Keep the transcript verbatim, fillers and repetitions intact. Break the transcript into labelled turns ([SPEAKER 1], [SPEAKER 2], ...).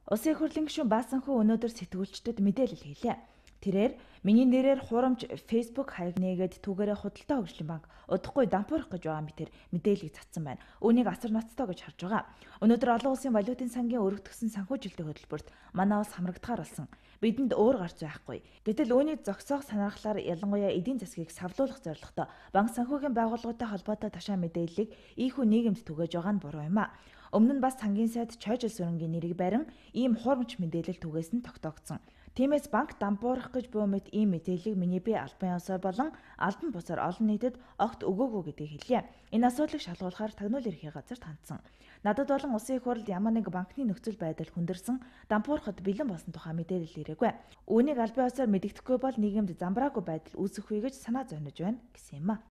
[SPEAKER 1] Улсын их хурлын гишүүн Баасан хүү өнөөдөр сэтгүүлчдэд мэдээлэл хийлээ. Тэрээр миний нэрээр хурамч Facebook хаяг нээгээд түүгээрээ худалдаа хөгжлийн банк удахгүй дампуурах гэж байгаа мэтэр мэдээлэл цацсан байна. Үүнийг асар ноцтой гэж харж байгаа. Өнөөдөр олон улсын валютын сангийн өргөдгсөн санхүүжилтийн хөтөлбөрт манай улс хамрагдахаар болсон. Бидэнд өөр гарц байхгүй. Гэтэл үүнийг зогсоох санаархлаар ялангуяа эдийн засгийг савлуулах зорилготой банк санхүүгийн байгууллагатай холбоотой ташаа мэдээллийг ийхүү нийгэмд түгээж байгаа нь буруу юм а. Өмнө нь бас сангийн сайд Чойжил сүрэнгийн нэрийг барин ийм хурамч мэдээлэл түгээс нь тогтоогдсон. Тиймээс банк дампуурах гэж буй мэт ийм мэдээллийг миний бие албан ёсоор болон албан бусаар олон нийтэд огт өгөөгүй гэдгийг хэлье. Энэ асуудлыг шалгуулахаар тагнуул ерхий газарт хандсан. Надад болон улсын их хурлд ямар нэг банкны нөхцөл байдал хүндэрсэн дампуурахад бэлэн болсон тухай мэдээлэл ирээгүй. Үүнийг албан ёсоор мэдэгдэхгүй бол нийгэмд замбраагүй байдал үүсэхгүй гэж санаа зовниж байна гэсэн юм а.